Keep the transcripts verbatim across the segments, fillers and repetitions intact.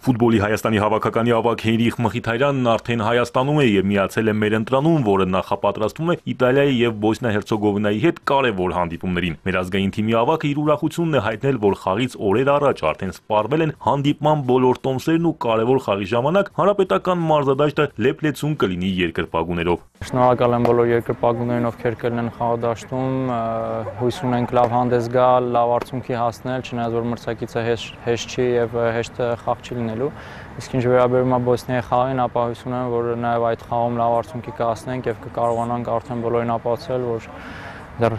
Ֆուտբոլի Հայաստանի հավաքականի ավագ Հենրիխ Մխիթարյանն արդեն Հայաստանում է եւ միացել է մեր ընտրանում, որը նախապատրաստվում է Իտալիայի եւ Բոսնիա-Հերցեգովինայի հետ կարևոր հանդիպումներին։ Մեր ազգային թիմի ավագը իր ուրախությունն է հայտնել, որ խաղից օրեր առաջ արդեն սպառվել են հանդիպման բոլոր տոմսերն ու կարևոր խաղի ժամանակ հանրապետական մարզադաշտը լեփլեցուն կլինի երկրպագուներով։ Շնորհակալ եմ բոլոր երկրպագուներին, ովքեր կլինեն խաղադաշտում, հույս ունենք լավ հանդես գալ, լավ արդյունքի հասնել, չնայած որ մրցակիցը հեշտ չի եւ հեշտ խաղ չի լինելու։ Իսկ ինչ վերաբերում է Բոսնիայի խաղին, ապա հույս ունեմ, որ նաեւ այդ խաղում լավ արդյունքի կհասնենք եւ կկարողանանք արդեն բոլորին ապացուցել, որ դեռ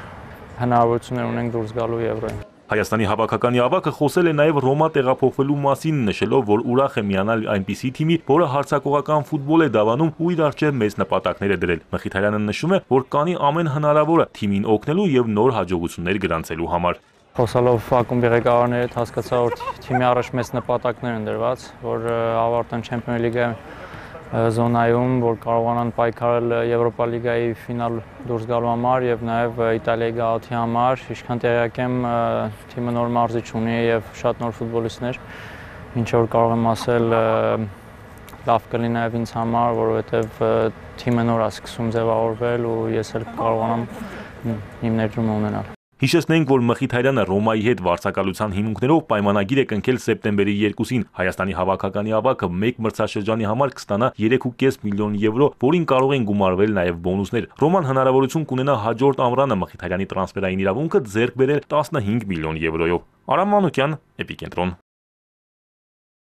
հնարավորություններ ունենք դուրս գալու Եվրոյին։ Հայաստանի հավաքականի ավագը խոսել է նաև Ռոմա տեղափոխվելու մասին, նշելով, որ ուրախ է միանալ այնպիսի թիմի, որը հարձակողական ֆուտբոլ է դավանում ու իր առջև մեծ նպատակներ է դրել։ Մխիթարյանը նշում է, որ կանի ամեն հնարավորը թիմին օգնելու եւ նոր հաջողություններ գրանցելու համար։ Խոսալով ակումբի ղեկավարների հետ հասկացա, որ թիմի առաջ մեծ նպատակներ են դրված, որ ավարտեն Չեմպիոնս լիգայի զոնայում, որ կարողանան պայքարել Եվրոպա լիգայի ֆինալ դուրս գալու համար եւ նաեւ Իտալիայի գաղութի համար։ Ինչքան տեղյակ եմ, թիմը նոր մարզիչ ունի եւ շատ նոր ֆուտբոլիստներ, ինչ որ կարող եմ ասել, լավ կլինի նաեւ ինձ համար, որովհետեւ թիմը նոր է սկսում ձևավորվել ու ես էլ կարողանամ իմ ներդրումը ունենալ։ Հիշեցնենք, որ Մխիթարյանը Ռոմայի հետ վարձակալության հիմունքներով պայմանագիր է կնքել սեպտեմբերի երկուսին։ Հայաստանի հավաքականի ավագը մեկ մրցաշրջանի համար կստանա երեք ու կես միլիոն եվրո, որին կարող են գումարվել նաև բոնուսներ։ Ռոման հնարավորություն կունենա հաջորդ ամռանը Մխիթարյանի տրանսֆերային իրավունքը ձեռք բերել տասնհինգ միլիոն եվրոյով։ Արամ Մանուկյան, Էպիկենտրոն։